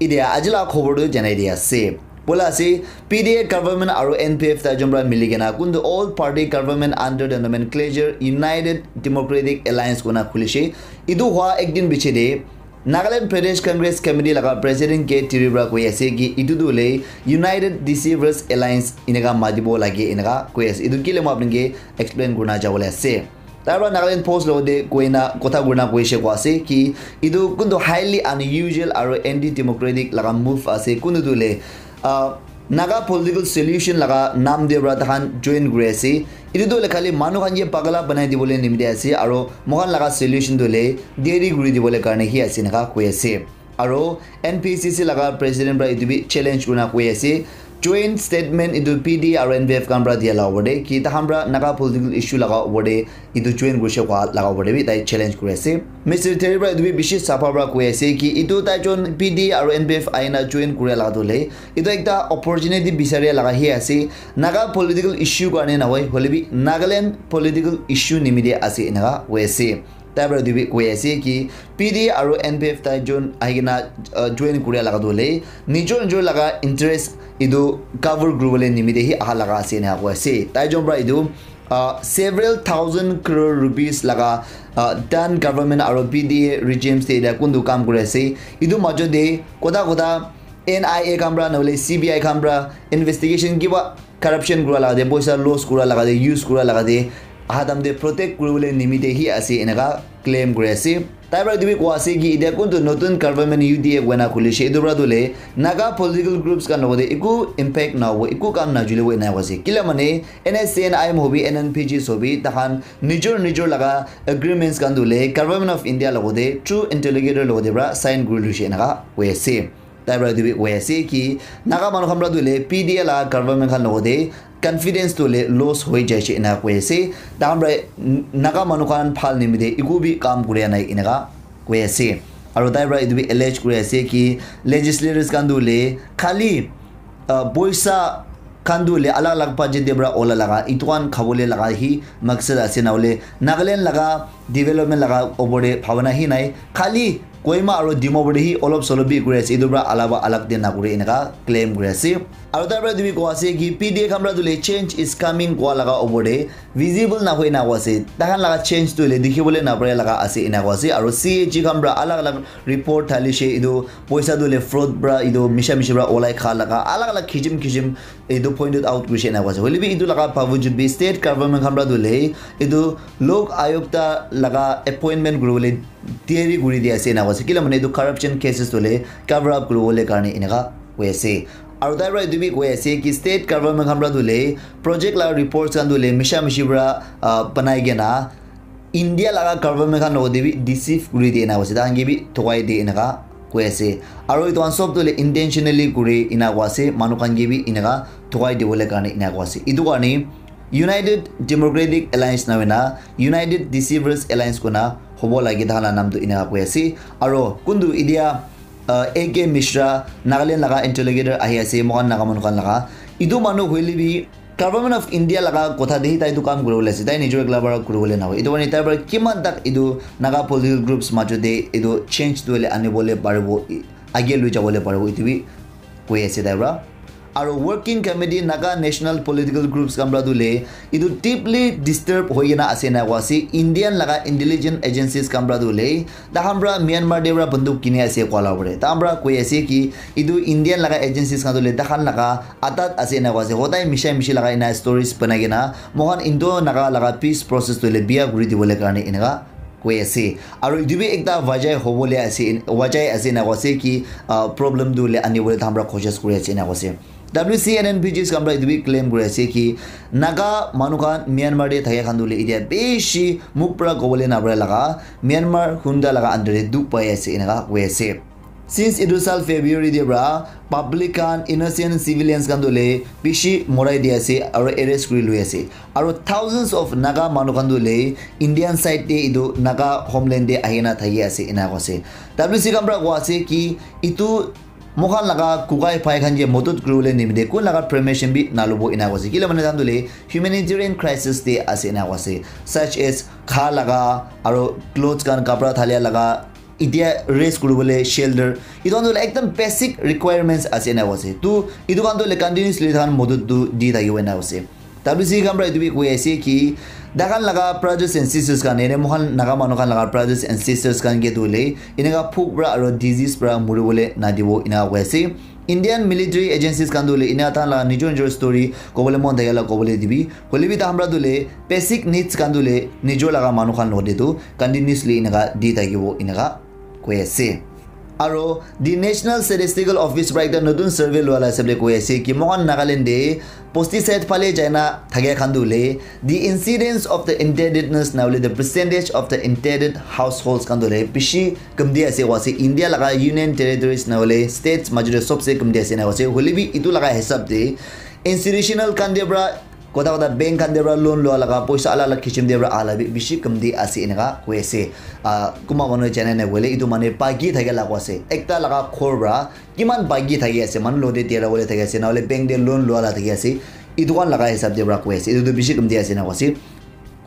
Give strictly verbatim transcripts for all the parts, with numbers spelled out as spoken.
Idia ajila khobor tu janai dia ase. Bola ase, P D A government aru N P F tai jun para mili kena kuntu all party government under the nomenclature United Democratic Alliance kona khulishe. Itu hua ek din piche de Nagaland Pradesh Congress Committee laga President K Tiri para koi ase ki itu tu le United Deceivers Alliance ineka matibo lage ineka koi ase. Itu kile mo apni ke explain kurna jabo le ase. Tai para Nagaland Post logote koina kotha kurina koishe koa ase ki itu kuntu highly unusual aru anti-democratic laga move ase. Kuntu tu le, ah, Naga political solution laga naam de para takhan join kuri ase. Itu tu le khali manu khan ke pagala banai dibole nimite ase aru moikhan laga solution tu le deri kuri dibole karne hi ase naka koi ase. Aro N P C C laga president para itu bi challenge kurina koi ase. Joint statement itu P D aro N P F khan para dia la opor te ki takhan para Naga political issue laga opor te itu join kurishe koa laga opor te bi tai challenge kuri ase. Mister Terry para itu bi bishi sapha para koi ase ki itu tai jon P D aro N P F aina join kuria laga tu le itu ekta opportunity bisaria laga hi ase. Naga political issue karne nahoi, hoile bi Nagaland political issue nimite ase enaka koi ase. Tai para etu bi koi ase ki P D A aro N P F tai jon ahi kena, uh, join kuria laga tu hoile nijor nijor laga interest etu cover kuribole nimite hi aha laga ase ena koi ase. Tai jon para etu, uh, several thousand crore rupees laga, uh, done government aro P D A regimes te eta kuntu kam kuri ase. Etu majo te kota kota N I A khan para nahole C B I khan para investigation kiba corruption kura laga te, poisa loss kura laga te, use kura laga te, aha time te protect kuribole nimite hi ase enaka claim kuri ase. Tai para etu bi koa ase ki etia kuntu notun government U D A koina khulishe, etu para tu le Naga political groups khan logote eku impact na hobo, eku kam na julibo ena koa ase. Kila mane N S C N I M hobi, N N P Gs hobi, takhan nijor nijor laga agreements khan tu le Government of India logote through interlocutor logote para sign kuri luishe enaka koi ase. Tai para etu bi koi ase ki Naga manu khan para tu le P D A la government khan logote confidence tu le loss hoi jai she ena koi ase. Takhan para Naga manu khan phal nimite eku bi kam kuria nai enaka koi ase. Aro tai para etu bi allege kuri ase ki legislators khan tu le khali, uh, poisa khan tu le alag alag budget te para ola laga, itu khan khabole laga hi maksad ase, nahole Nagaland laga development laga opor te bhabana hi nai. Khali Kohima aro Dimapur te hi olop solop bi kuri ase, itu para alaba alag te nakure enaka claim kuri ase. Aro tai para etu bi koa ase ki P D A khan para tu le change is coming koa laga opor te visible nahoi na koa ase. Takhan laga change tu le dikhibole napare laga ase ena koa ase. Aro C A G khan para alag alag report thalishe, itu poisa tu le fraud para, itu misha mishi para olai kha laga alag alag kisim kisim etu pointed out kurishe ena koa ase. Hoile bi itu laga bawajud bi state government khan para tu le itu Lok Ayukta laga appointment kuribole tiyari kuri di ase ena koa ase. Kila mane itu corruption cases tu le cover up kuribole karne enaka koi ase. Aro tai para itu bi koi ase ki state government khan para tu le project laga reports khan tu le misha mishi para, ah, banai kena India laga government khan logote bi deceive kuri di ena koa ase. Takhan ke bi thokai di enaka koi ase. Aro itu khan sob tu le intentionally kuri ena koa ase. Manu khan ke bi enaka thokai dibole karne ena koa ase. Itu karne United Democratic Alliance na hoina United Deceivers Alliance kona hobo lage, takhan la naam tu enaka koi ase. Aro kuntu idia, uh, A K Mishra, Nagaland laga interlocutor ahi ase, moikhan Naga manu khan laga. Itu manu hoile bi Government of India laga kotha de tai tu kam kuribole ase, tai nijor ekla para kuribole nahoi. Itu karne tai para kiman tak itu Naga political groups majo de itu change tu hoile anibole paribo, age lui jabole paribo, itu bi koi ase tai para. Aro Working Committee Naga National Political Groups khan para tu le itu deeply disturb hoi kena ase ena koa ase. Indian laga intelligence agencies khan para tu le takhan para Myanmar te para banduk kini ase koa la pore. Takhan para koi ase ki itu Indian laga agencies khan tu le takhan laga atat ase ena koa ase. Hotai misha mishi laga ena stories banai kena moikhan Indo Naga laga peace process tu le bia kuri dibole karne enaka koi ase. Aro itu bi ekta wajah hobole ase, wajah ase ena koa ase ki, ah, problem tu le anibole takhan para koshish kuri ase ena koa ase. W C N N P Gs khan para itu bi claim kuri ase ki Naga manu khan Myanmar te thaka khan tu le itia bishi mukh para kobole napare laga Myanmar junta laga under te dukh pai ase enaka koi ase. Since itu sal February te para public khan, innocent civilians khan tu le bishi morai di ase aro arrest kuri lui ase. Aro thousands of Naga manu khan tu le Indian side te itu Naga homeland te ahina thaki ase ena koa ase. W C khan para koa ase ki itu moikhan laga kukai phai khan ke modot kuribole nimite kun laga permission bi nalobo ena koa ase. Kile mane takhan tu le humanitarian crisis te ase ena koa ase. Such as kha laga aro clothes khan kapra thalia laga itia rest kuribole shelter, etu khan tu hoile ekdam basic requirements ase ena koise. Tu etu khan tu hoile continuously tahan modot tu di thakibo ena koise. W C khan para etu bi koi ase ki tahan laga brothers and sisters khan, ene moikhan Naga manu khan laga brothers and sisters khan ke tu hoile eneka phuk para aro disease para muribole nadibo ena koi ase. Indian military agencies khan tu hoile ena tahan laga nijor nijor story kobole mon thakela kobole dibi. Hoile bi tahan para tu hoile basic needs khan tu hoile nijor laga manu khan logote tu continuously eneka di thakibo eneka koi ase. Aro the National Statistical Office para ekta notun survey lua la hisab de koi ase ki moikhan Nagaland de pesticide phale jaina thakia khan tu hoile the incidence of the indebtedness na hoile the percentage of the indebted households khan tu hoile bishi kamti ase koi ase. India laga union territories na hoile states major de sobse kamti ase na koi ase. Hoile bi etu laga hisab de institutional khan de para kota kota bank khan de para loan lua laga poisa alak alak kisim de para ala bi bishi kamti ase eneka koi ase. Ah, kunba manu jana nai koile etu mane bagi thake la koi ase. Ekta laga ghor para kiman bagi thaki ase, manu logote tera bole thaki ase, na hoile bank de loan lua la thaki ase. Etu khan laga hisab de para koi ase. Etu tu bishi kamti ase ena koi ase.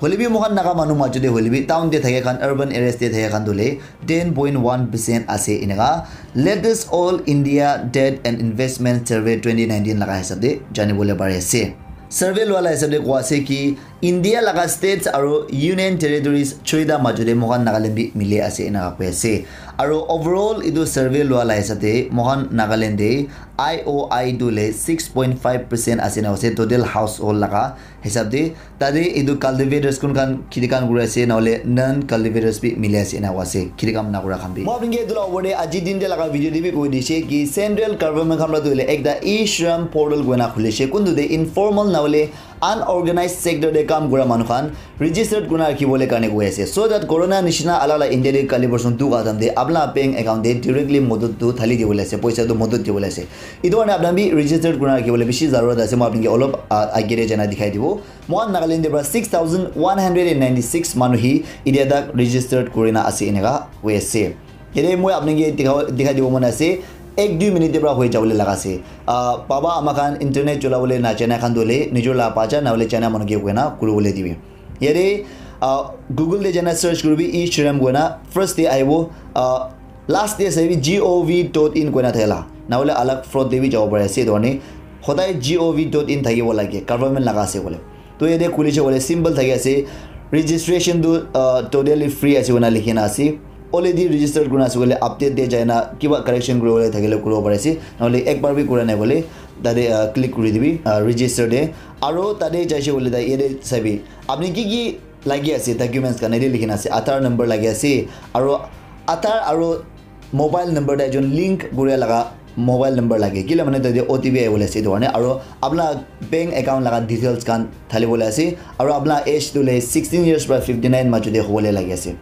Hoile bi moikhan Naga manu majo de hoile bi town de thake khan, urban areas de thake khan tu hoile ten point one percent ase eneka. Latest All India Debt and Investment Survey twenty nineteen laga hisab de jani bole pari ase. Survey lua la hisab de koi ase ki India laga states aro union territories choita majo de moikhan Nagaland bi mili ase eneka koi ase. Aro overall etu survey lua la hisab de moikhan Nagaland de I O I tu hoile six point five percent ase ena koi ase total household laga hisab de. Tate etu cultivators kun khan kheti khan kuri ase na hoile non cultivators bi mili ase ena koi ase kheti kam na kura khan bi. Moi apni ke etu la opor de aji din de laga video de bi koi dise ki central government khan para tu hoile ekta e-shram portal koi na khuli se kuntu de informal na hoile unorganized sector de kam kura manu khan registered kurina rakhi bole karne koi ase, so that corona nishina alak alak India de kali borson tu ka time de apna bank account de directly modot tu thali dibole ase, poisa tu modot dibole ase. Etu karne apna bi registered kurina rakhi bole bishi zarurat ase. Moi apni ke olop, ah, age de jana dikhai dibo. Moikhan Nagaland de para six thousand one hundred and ninety six manu hi itia tak registered kurina ase eneka koi ase. Yate moi apni ke dikha, dikhai dibo mon ase, ek dui minute de para hoi jabole laga ase. Ah, baba ama khan internet chola bole na jana khan tu hoile nijor la bacha na hoile jana manu ke koi na kuri bole dibi. Yate, ah, Google de jana search kuribi e-shram koi na first de ahibo, ah, last de sabi G O V dot in koi na thakela. Na hoile alak fraud de bi jabo pari ase etu karne hodai G O V dot in thakibo lage, government laga ase bole. To yate khuli se koile simple thaki ase, registration tu, uh, totally free ase koina likhi na ase. Already registered kurina ase koile update de jai na kiba correction kuri bole thakile kuri bo pari ase, na hoile ekbar bi kura nai koile tate, uh, click kuri dibi, uh, register de. Aro tate jai se koile ta yate sabi apni ki ki lagi ase documents khan yate likhi na ase, Aadhaar number lagi ase aro Aadhaar aro mobile number de ekjon link kuria laga mobile number lage, kile mane tate O T P ahibole ase etu karne, aro apna bank account laga details khan thalibole ase, aro apna age tu le sixteen years para fifty nine majo de hobole lagi ase.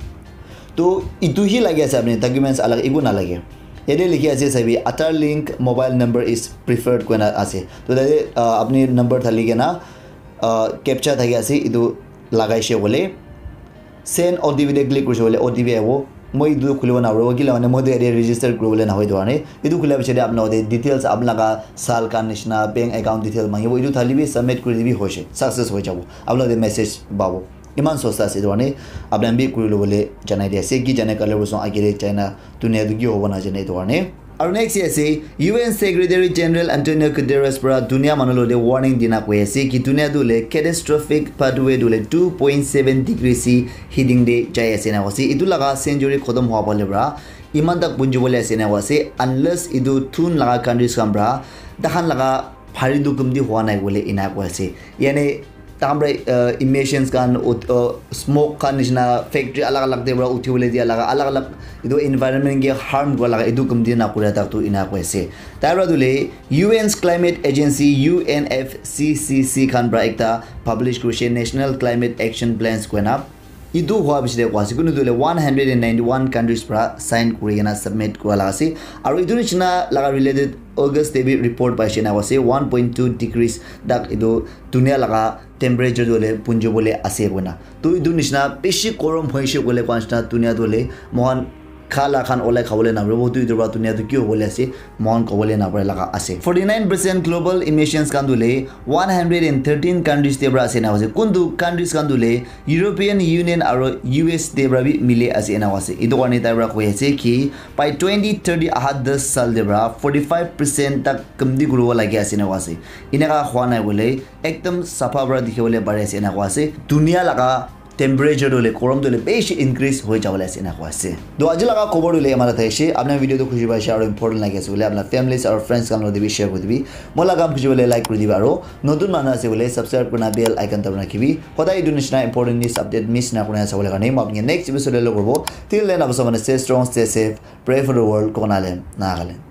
To etu hi lagi ase, apni documents alag eku nalage. Yate likhi ase sabi, Aadhaar link mobile number is preferred koina ase. To tate, ah, apni number thali kena, ah, captcha thaki ase, etu lagai she koile send O T P de click kurise koile O T P ahibo. Moi etu khulibo naparibo, kile mane moi tu yate register kuribole nahoi etu karne. Etu khulia piche de apna logote details, apna laga sal khan nishina, bank account detail mangibo. Etu thali bi submit kuri dibi hoise, success hoi jabo. Apna logote message pabo. Iman sosta ase etu karne. Apna bi kuri lobole janai di ase. Ki jane kali bosong age de China dunia tu ki hobo na jane etu karne. Aru next ase U N Secretary General Antonio Guterres para dunia manu logote warning dina koi ase ki dunia tu le catastrophic pathway tu le two point seven degree C heating de jai ase na ase. Etu laga century khotom hua pale para iman tak punji bole ase na ase, unless etu thun laga countries khan para tahan laga phari tu kumti hua nai bole ena koi ase. Yane tahan para, uh, emissions khan ut-, uh, smoke khan nishina factory alag alag te para uthi bole dia laga alag alag etu environment ke harm kura laga etu kumti na kura tak tu ena koi ase. Tai para tu le U N's climate agency U N F C C C khan para ekta publish kurise National Climate Action Plans koina. Etu hua piche de koi ase kunu tu le one hundred and ninety one countries para sign kuri kena submit kura laga ase. Aru etu nishina laga related August de bi report paise na ase one point two degrees tak etu dunia laga temperature tu le punji bole ase koina. To etu nishina bishi gorom hoise koile koi nishina dunia tu le moikhan kha la khan olai khabole naparibo, tu etu para dunia tu ki hobole ase, moikhan kobole napare laga ase. Forty nine percent global emissions khan tu le one hundred and thirteen countries te para ase ena koise. Kuntu countries khan tu le European Union aro U S te para bi mili ase ena koise. Etu karne tai para koi ase ki by twenty thirty, aha das saal te para forty five percent tak kamti kuribo lagi ase ena koise. Eneka hua nai bole ekdam sapha para dikhi bole pari ase ena koise. Dunia laga temperature tu le, gorom tu le beshi increase hoi jabo le ase ena koise. To aji laga khobor tu le eman ta thakishi. Apni video tu khushi paise aro important lagi ase bole apni families aro friends khan logot bi share kuri dibi. Moi laga kam khushi bole like kuri dibi aro notun manu ase bole subscribe kurina bell icon tabana rakhibi. Hodai etu nishina important news update miss na kurina sabole karne moi apni next episode te log koribo. Till then, apni sob mane stay strong, stay safe, pray for the world, Konale, Nagaland.